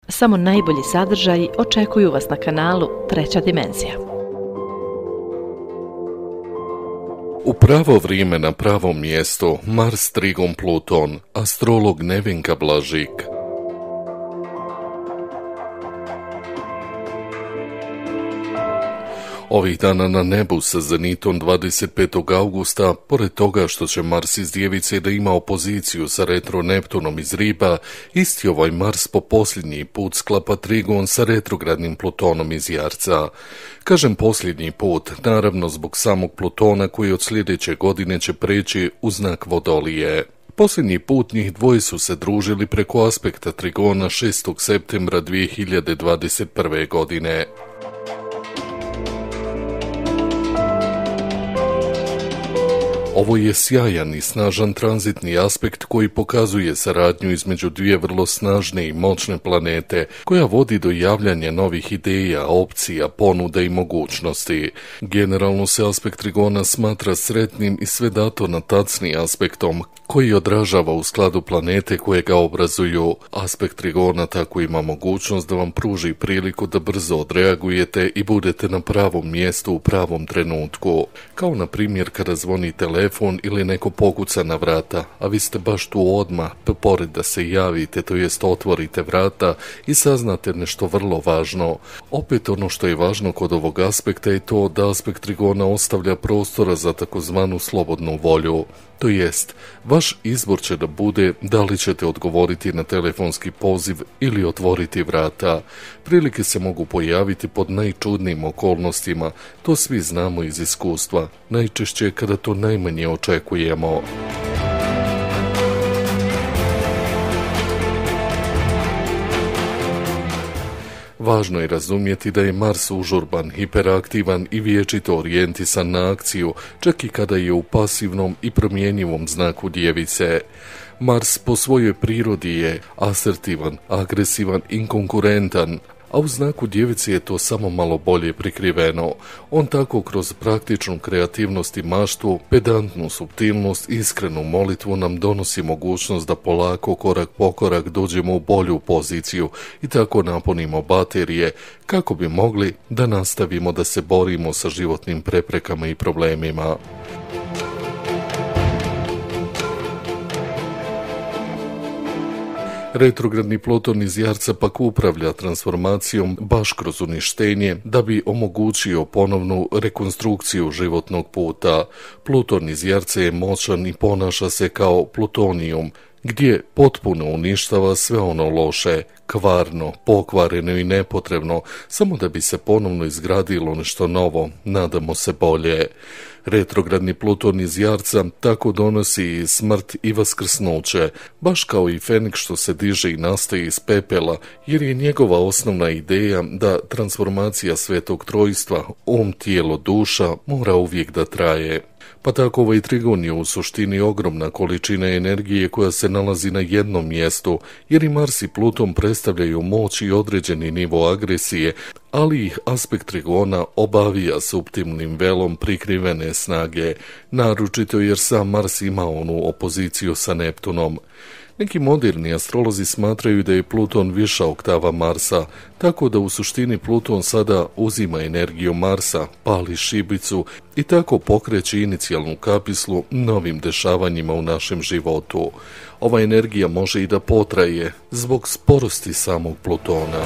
Samo najbolji sadržaji očekuju vas na kanalu Treća dimenzija. U pravo vrijeme na pravom mjestu Mars Trigon Pluton, astrolog Nevenka Blažik. Ovih dana na nebu sa zenitom 25. augusta, pored toga što će Mars iz Djevice da ima opoziciju sa retro Neptunom iz Riba, isti ovaj Mars po posljednji put sklapa trigon sa retrogradnim Plutonom iz Jarca. Kažem posljednji put, naravno zbog samog Plutona koji od sljedeće godine će preći u znak Vodolije. Posljednji put njih dvoje su se družili preko aspekta trigona 6. septembra 2021. godine. Ovo je sjajan i snažan tranzitni aspekt koji pokazuje saradnju između dvije vrlo snažne i moćne planete, koja vodi do javljanja novih ideja, opcija, ponuda i mogućnosti. Generalno se aspekt trigona smatra sretnim i sve dato natacni aspektom, koji odražava u skladu planete koje ga obrazuju. Aspekt trigona tako ima mogućnost da vam pruži priliku da brzo odreagujete i budete na pravom mjestu u pravom trenutku. Kao na primjer kada zvoni telefon ili neko pokuca na vrata, a vi ste baš tu odmah, pored da se javite, to jest otvorite vrata i saznate nešto vrlo važno. Opet ono što je važno kod ovog aspekta je to da aspekt trigona ostavlja prostora za takozvanu slobodnu volju. To jest, vaš izbor će da bude da li ćete odgovoriti na telefonski poziv ili otvoriti vrata. Prilike se mogu pojaviti pod najčudnijim okolnostima, to svi znamo iz iskustva, najčešće kada to najmanje očekujemo. Važno je razumjeti da je Mars užurban, hiperaktivan i vječito orijentisan na akciju, čak i kada je u pasivnom i promjenjivom znaku Djevice. Mars po svojoj prirodi je asertivan, agresivan, inkonkurentan, a u znaku Djevice je to samo malo bolje prikriveno. On tako kroz praktičnu kreativnost i maštu, pedantnu suptilnost i iskrenu molitvu nam donosi mogućnost da polako, korak po korak dođemo u bolju poziciju i tako napunimo baterije kako bi mogli da nastavimo da se borimo sa životnim preprekama i problemima. Retrogradni Pluton iz Jarca pak upravlja transformacijom baš kroz uništenje da bi omogućio ponovnu rekonstrukciju životnog puta. Pluton iz Jarca je moćan i ponaša se kao plutonijum, gdje potpuno uništava sve ono loše, kvarno, pokvareno i nepotrebno, samo da bi se ponovno izgradilo nešto novo, nadamo se bolje. Retrogradni Pluton iz Jarca tako donosi i smrt i vaskrsnuće, baš kao i Feniks što se diže i nastaje iz pepela, jer je njegova osnovna ideja da transformacija svetog trojstva, tijelo, duša, mora uvijek da traje. Pa tako ovaj trigon je u suštini ogromna količina energije koja se nalazi na jednom mjestu, jer i Mars i Pluton predstavljaju moć i određeni nivo agresije, ali ih aspekt trigona obavija suptilnim velom prikrivene snage, naročito jer sam Mars ima onu opoziciju sa Neptunom. Neki moderni astrolozi smatraju da je Pluton viša oktava Marsa, tako da u suštini Pluton sada uzima energiju Marsa, pali šibicu i tako pokreće inicijalnu kapislu novim dešavanjima u našem životu. Ova energija može i da potraje zbog sporosti samog Plutona.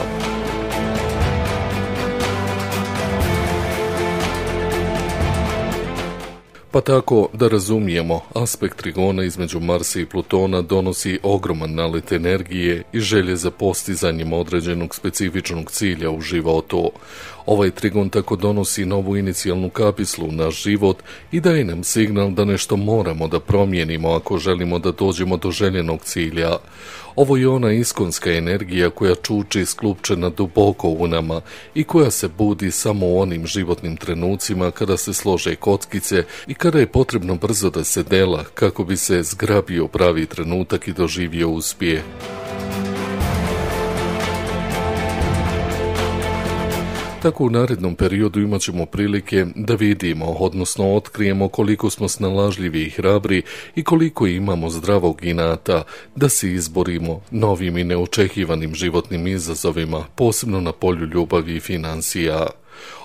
Pa tako da razumijemo, aspekt trigona između Marsa i Plutona donosi ogroman nalet energije i želje za postizanjem određenog specifičnog cilja u životu. Ovaj trigon tako donosi novu inicijalnu kapislu u naš život i daje nam signal da nešto moramo da promijenimo ako želimo da dođemo do željenog cilja. Ovo je ona iskonska energija koja čuči sklupčena duboko u nama i koja se budi samo u onim životnim trenucima kada se slože kockice i kada je potrebno brzo da se dela kako bi se zgrabio pravi trenutak i doživio uspjeh. Tako u narednom periodu imat ćemo prilike da vidimo, odnosno otkrijemo koliko smo snalažljivi i hrabri i koliko imamo zdravog inata da se izborimo novim i neočekivanim životnim izazovima, posebno na polju ljubavi i financija.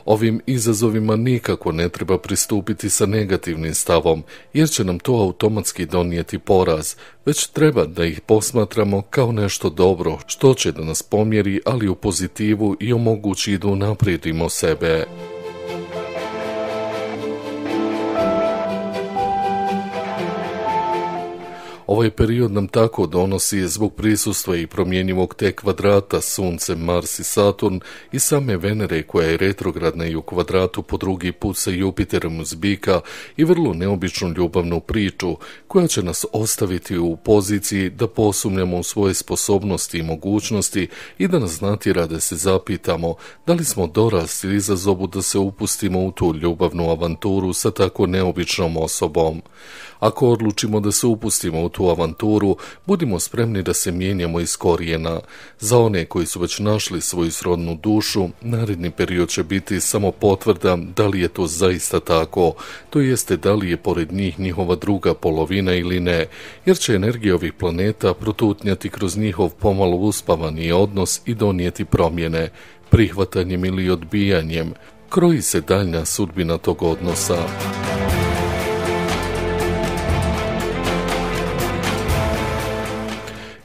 Ovim izazovima nikako ne treba pristupiti sa negativnim stavom, jer će nam to automatski donijeti poraz, već treba da ih posmatramo kao nešto dobro, što će da nas pomjeri, ali u pozitivu i omogući da unaprijedimo sebe. Ovaj period nam tako donosi zbog prisustva i promjenjivog T kvadrata Sunce, Mars i Saturn i same Venere koja je retrogradna i u kvadratu po drugi put sa Jupiterom uz Bika i vrlo neobičnu ljubavnu priču koja će nas ostaviti u poziciji da posumnjamo u svoje sposobnosti i mogućnosti i da nas natjera da se zapitamo da li smo dorasli izazovu da se upustimo u tu ljubavnu avanturu sa tako neobičnom osobom. Ako odlučimo da se upustimo u tu avanturu, budimo spremni da se mijenjamo iz korijena. Za one koji su već našli svoju srodnu dušu, naredni period će biti samo potvrda da li je to zaista tako, to jeste da li je pored njih njihova druga polovina ili ne, jer će energija ovih planeta protutnjati kroz njihov pomalo uspavani odnos i donijeti promjene, prihvatanjem ili odbijanjem. Kroji se daljnja sudbina tog odnosa.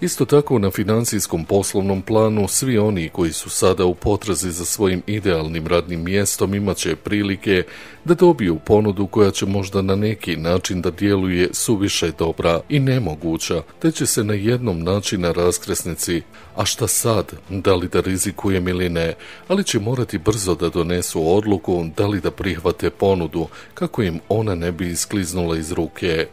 Isto tako na financijskom poslovnom planu svi oni koji su sada u potrazi za svojim idealnim radnim mjestom imat će prilike da dobiju ponudu koja će možda na neki način da djeluje suviše dobra i nemoguća, te će se na jednom načina raskrsnici, a šta sad, da li da rizikujem ili ne, ali će morati brzo da donesu odluku da li da prihvate ponudu kako im ona ne bi iskliznula iz ruke.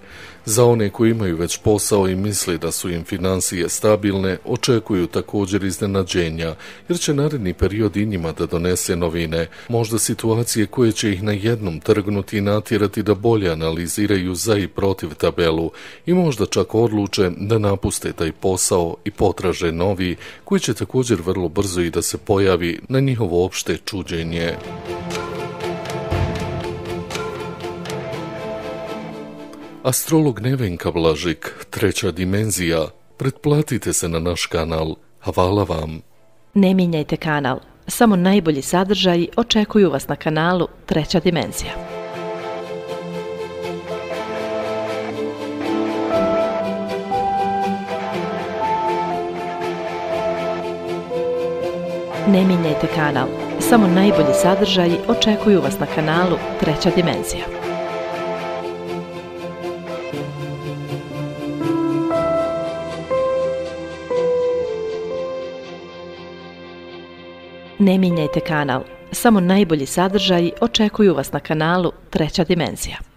Za one koji imaju već posao i misli da su im financije stabilne, očekuju također iznenađenja, jer će naredni period i njima da donese novine, možda situacije koje će ih na jednom trgnuti i natjerati da bolje analiziraju za i protiv tabelu i možda čak odluče da napuste taj posao i potraže novi, koji će također vrlo brzo i da se pojavi na njihovo opšte čuđenje. Astrolog Nevenka Blažik, treća dimenzija. Pretplatite se na naš kanal. Hvala vam. Ne mijenjajte kanal. Samo najbolji sadržaji očekuju vas na kanalu Treća dimenzija. Ne mijenjajte kanal. Samo najbolji sadržaji očekuju vas na kanalu Treća dimenzija. Ne mijenjajte kanal. Samo najbolji sadržaji očekuju vas na kanalu Treća dimenzija.